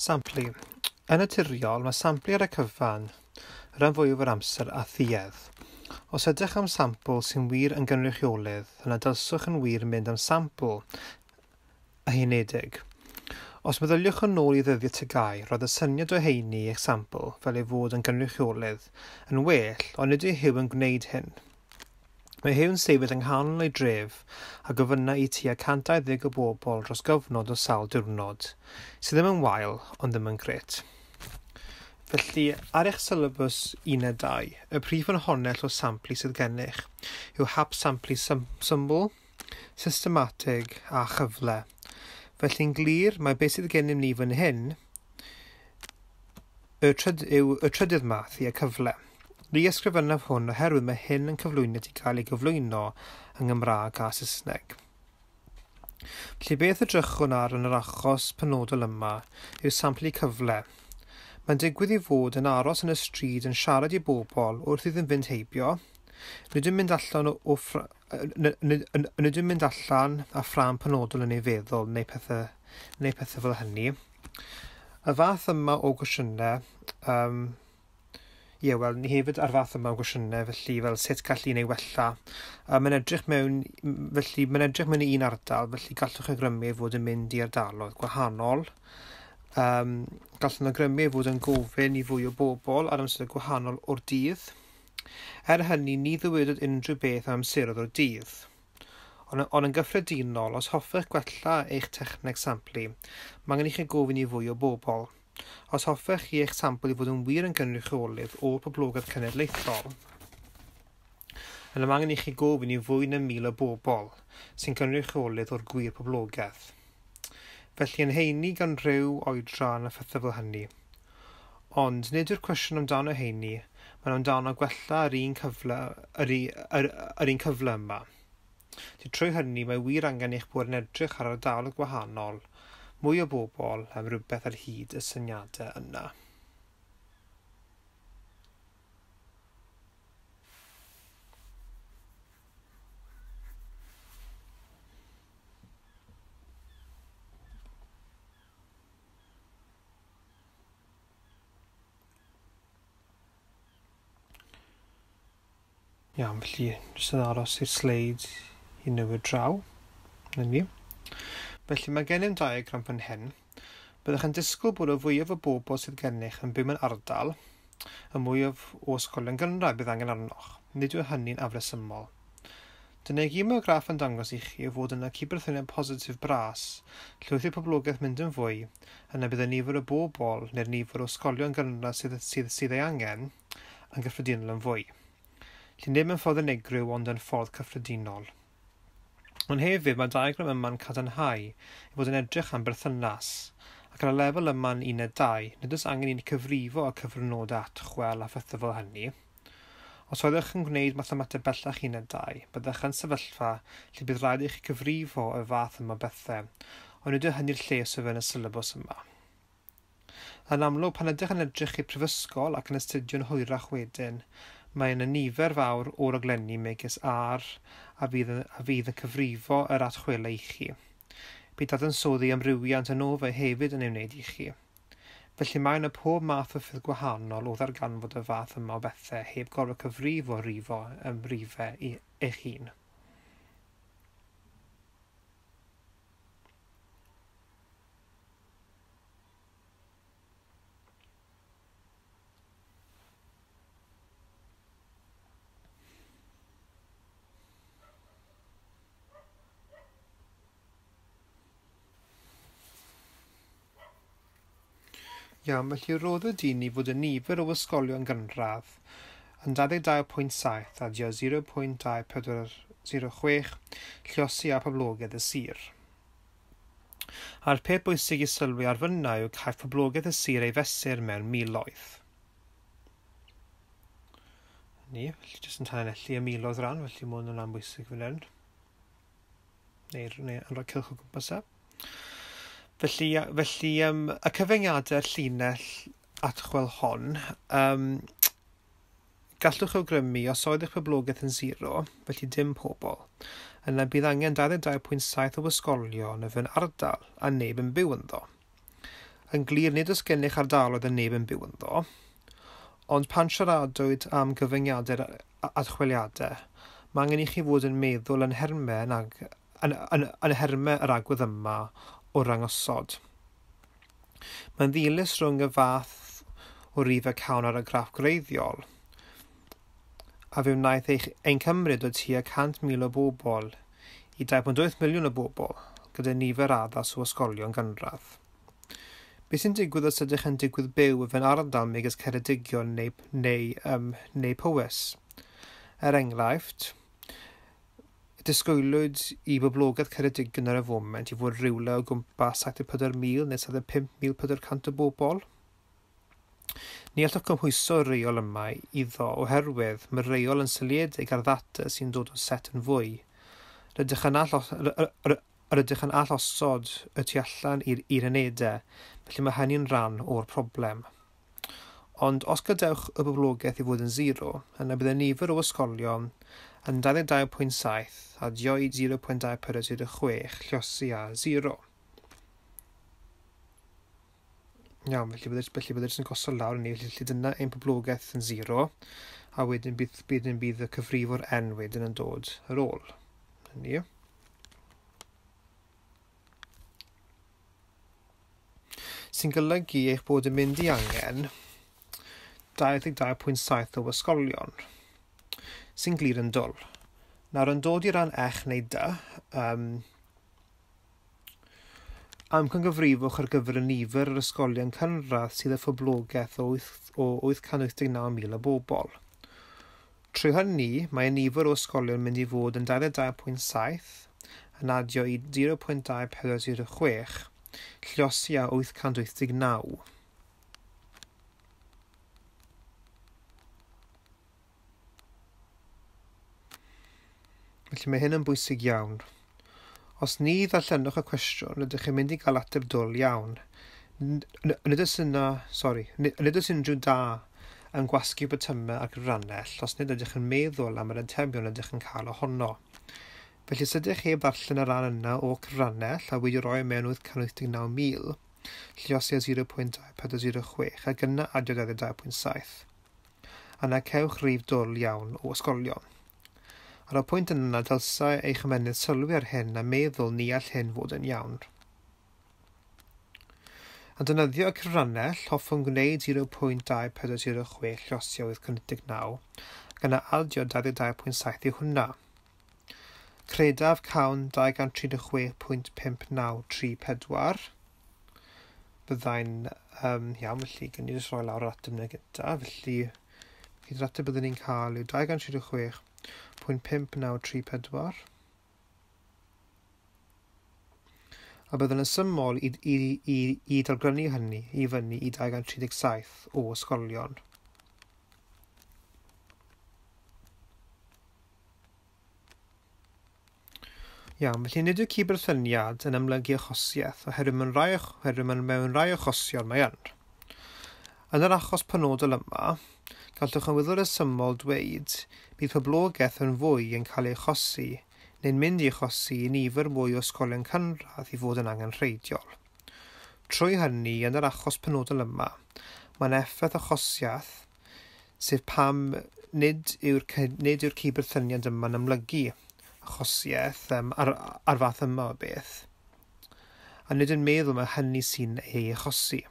Samplu. Yn naturiol, mae samplu ar y cyfan y rhan fwyaf o'r amser a thuedd. Os ydych am sampl sy'n wir yn gynrychiolydd, yna dylswch yn wir mynd am sampl haenedig. Os meddyliwch yn ôl i ddyddiau TGAU, roedd y syniad o haenu eich sampl fel ei fod yn gynrychiolydd yn well, ond nid yw Huw yn gwneud hyn. Mae Huw'n sefyll yng nghanol ei dref a gofynna i tua 120 o bobl dros gyfnod o sawl diwrnod, sydd ddim yn wael, ond ddim yn grêt. Felly, ar eich sylabws uned 2, y prif ffynhonnell o samplu sydd gennych yw hap samplu syml, systematig a chyfle. Felly'n glir, mae beth sydd gennym ni fan hyn y yw y trydydd math i y cyfle. Ni ysgrifennaf hwn oherwydd mae hyn yn cyflwyniad i gael ei gyflwyno yng Nghymraeg a Saesneg. Felly beth edrychwn ar yn yr achos penodol yma yw samplu cyfle. Mae'n digwydd i fod yn aros yn y stryd yn siarad i bobl wrth iddyn fynd heibio. Nid yw'n mynd allan o, o nid yw'n mynd allan a ffrâm penodol yn ei feddwl neu pethau, neu pethau fel hynny. Y fath yma o gwestiynau, ie, wel, ni hefyd ar fath yma o gwestiynau, felly fel sut gall un ei wella. Mae'n edrych mewn, felly mae'n edrych mewn i un ardal, felly gallwch awgrymu ei fod yn mynd i ardaloedd gwahanol. Gallwn awgrymu ei fod yn gofyn i fwy o bobl ar amser gwahanol o'r dydd. Er hynny, ni ddywedwyd unrhyw beth am amseroedd o'r dydd. Ond yn gyffredinol, os hoffech gwella eich techneg samplu, mae angen i chi gofyn i fwy o bobl. Os hoffech chi eich sampl i fod yn wir yn gynrychiolydd o'r poblogaeth cenedlaethol, yna mae angen i chi gofyn i fwy na 1,000 o bobl sy'n gynrychiolydd o'r gwir poblogaeth. Felly yn heini gan rhyw oedran a phethau fel hynny. Ond nid yw'r cwestiwn amdano heini, mae'n amdano gwella yr un cyfle, yr, yr, yr un cyfle yma. Felly trwy hynny mae wir angen eich bod yn edrych ar ardaloedd gwahanol, mwy o bobl am rhywbeth ar hyd y syniadau yna. Iawn, felly jyst yn aros i'r sleid i newid draw. Na ni. Felly mae gennym diagram fan hyn. Byddwch yn disgwyl bod y fwyaf o bobl sydd gennych yn byw mewn ardal, y mwyaf o ysgolion gynradd bydd angen arnoch. Nid yw hynny'n afresymol. Dyna i gyd mae'r graff yn dangos i chi yw fod yna cydberthyniad positif bras, lle wrth i'r poblogaeth mynd yn fwy, yna bydd y nifer o bobl neu'r nifer o ysgolion gynradd sydd, sydd, sydd ei angen yn gyffredinol yn fwy. Felly nid mewn ffordd unigryw ond yn ffordd cyffredinol. Ond hefyd mae'r diagram yma'n cadarnhau ei fod yn edrych am berthynas, ac ar y lefel yma yn uned 2, nid oes angen i ni cyfrifo y cyfrynodau atchwel a phethau fel hynny. Os oeddech yn gwneud mathemateg bellach uned 2, byddech yn sefyllfa lle bydd rhaid i chi cyfrifo y fath yma bethau, ond nid yw hynny'r lle sydd yn y sylabws yma. Yn amlwg, pan ydych yn edrych i'r prifysgol ac yn astudio'n hwyrach wedyn, mae yna nifer fawr o raglenni megis R a fydd yn, a fydd yn cyfrifo yr atchwelau i chi. Bydd dadansoddi amrywiant yn ofer hefyd yn ei wneud i chi. Felly mae yna pob math o ffyrdd gwahanol o ddarganfod y fath yma o bethau heb gorfod cyfrifo rifo rifau i eich hun. Iawn, felly roddwyd i ni fod y nifer o ysgolion gynradd yn 22.7 adio 0.2406 lluosi â poblogaeth y sir. A'r peth bwysig i sylwi ar fyna yw caiff poblogaeth y sir ei fesur mewn miloedd. Ni, felly jyst yn tanlinellu y miloedd ran, felly mae hwn yn rhan bwysig fan hyn. Neu, neu yn rhoi cylch o gwmpas e. Felly, felly y cyfyngiadau'r llinell atchwel hon, gallwch awgrymu os oedd eich poblogaeth yn 0, felly dim pobl, yna bydd angen 22.7 o ysgolion yn fy ardal a neb yn byw ynddo. Yn glir, nid oes gennych ardaloedd yn neb yn byw ynddo, ond pan siaradwyd am gyfyngiadau archwiliadau, mae angen i chi fod yn meddwl yn nhermau yr agwedd yma o rangosod. Mae'n ddilys rhwng y fath o rifau cawn ar y graff gwreiddiol, a fe wnaeth ein cymryd o tua 100,000 o bobl i 2.8 miliwn o bobl, gyda nifer addas o ysgolion gynradd. Beth sy'n digwydd os ydych yn digwydd byw o fewn ardal megis Ceredigion neu Powys? Er enghraifft, disgwylwyd i boblogaeth Ceredigion ar y foment i fod rhywle o gwmpas 74,000 neu 75,400 o bobl. Ni allwch gymhwyso'r reol yma iddo oherwydd mae'r reol yn seiliedig ar ddata sy'n dod o set yn fwy. Rydych yn allosod y tu allan i'r unedau, felly mae hynny'n rhan o'r problem. Ond os gadewch y boblogaeth i fod yn 0, yna bydd y nifer o ysgolion yn 22.7 adio i 0.2406 lliosi â 0. Iawn, felly bydd yn gosod lawr ni, felly dyna ein poblogaeth yn 0, a wedyn bydd y cyfrifwr n wedyn yn dod ar ôl. Ni. Sy'n golygu eich bod yn mynd i angen 22.7 o ysgolion, sy'n glir yn dwl. Nawr yn dod i ran ech neu dy, amcangyfrifwch ar gyfer y nifer yr ysgolion cynradd sydd â phoblogaeth o 889,000 o bobl. Trwy hynny, mae y nifer o ysgolion mynd i fod yn 22.7 yn adio i 0.2406, lliosi â 889. Felly mae hyn yn bwysig iawn. Os ni ddarllenwch y cwestiwn, rydych chi'n mynd i gael ateb dwl iawn. Nid oes unrhyw da yn gwasgu botymau ar gyfrannell os nid ydych yn meddwl am yr atebion ydych yn cael ohono. Felly os ydych heb ddarllen y rhan yna o cyfrannell a wedi rhoi mewn 889,000, lliosi â 0.2406 ac yna adio 22.7. Yna cewch rif dwl iawn o ysgolion. Ar y pwynt yna, dylsai eich ymennydd sylwi ar hyn a meddwl ni all hyn fod yn iawn. Yn defnyddio y cyfrannell, hoffwn gwneud 0.2406 lliosi â 889 ac yna adio 22.7 i hwnna. Credaf cawn 236.5934. Byddai'n iawn, felly gan i jyst rhoi lawr yr ateb yna gyda. Felly, yr ateb byddwn ni'n cael yw 236.5934. A byddwn yn syml i dalgrynnu hynny i fyny i 237 o ysgolion. Iawn, felly nid yw cydberthyniad yn amlygu achosiaeth, oherwydd mewn rhai achosion mae yn. Yn yr achos penodol yma, gallwch yn wyddor resymol dweud bydd poblogaeth yn fwy yn cael ei achosi neu'n mynd i achosi i nifer mwy o ysgolion cynradd i fod yn angenrheidiol. Trwy hynny, yn yr achos penodol yma, mae'n effaith achosiaeth, sef pam nid yw'r cydberthyniad yma'n amlygu achosiaeth ar fath yma o beth, a nid yn meddwl mae hynny sy'n ei achosi.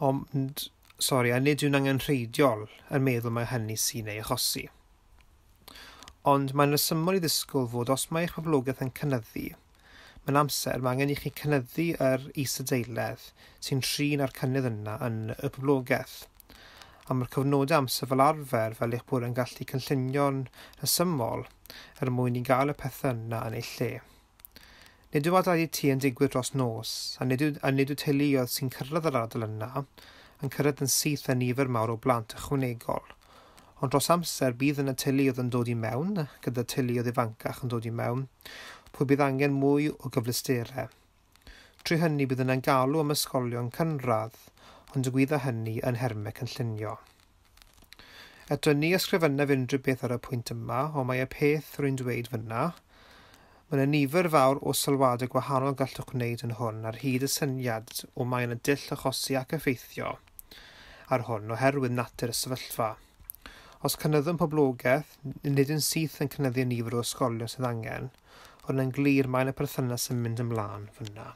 Ond, a nid yw'n angenrheidiol yn meddwl mae hynny sy'n ei achosi. Ond mae'n resymol i ddisgwyl fod os mae eich poblogaeth yn cynyddu, mewn amser mae angen i chi cynyddu yr isadeiledd sy'n trin â'r cynnydd yna yn y poblogaeth. A mae'r cyfnodau amser fel arfer fel eich bod yn gallu cynllunio'n rhesymol er mwyn i gael y pethau yna yn eu lle. Nid yw adeiladu tŷ yn digwydd dros nos, a nid yw teuluoedd sy'n cyrraedd yr ardal yna yn cyrraedd yn syth â nifer mawr o blant ychwanegol. Ond dros amser bydd yna teuluoedd yn dod i mewn, gyda teuluoedd ifancach yn dod i mewn, pwy bydd angen mwy o gyfleusterau. Trwy hynny bydd yna'n galw am ysgolion cynradd, ond digwydda hynny yn nhermau cynllunio. Eto ni ysgrifennaf unrhyw beth ar y pwynt yma, ond mae y peth rwy'n dweud fyna, Mae yna nifer fawr o sylwadau gwahanol gallwch wneud yn hwn ar hyd y syniad o mae yna dull achosi ac effeithio ar hwn oherwydd natur y sefyllfa. Os cynyddwn poblogaeth, nid yn syth yn cynyddu nifer o ysgolion sydd angen, ond yn glir mae yna perthynas yn mynd ymlaen fyna.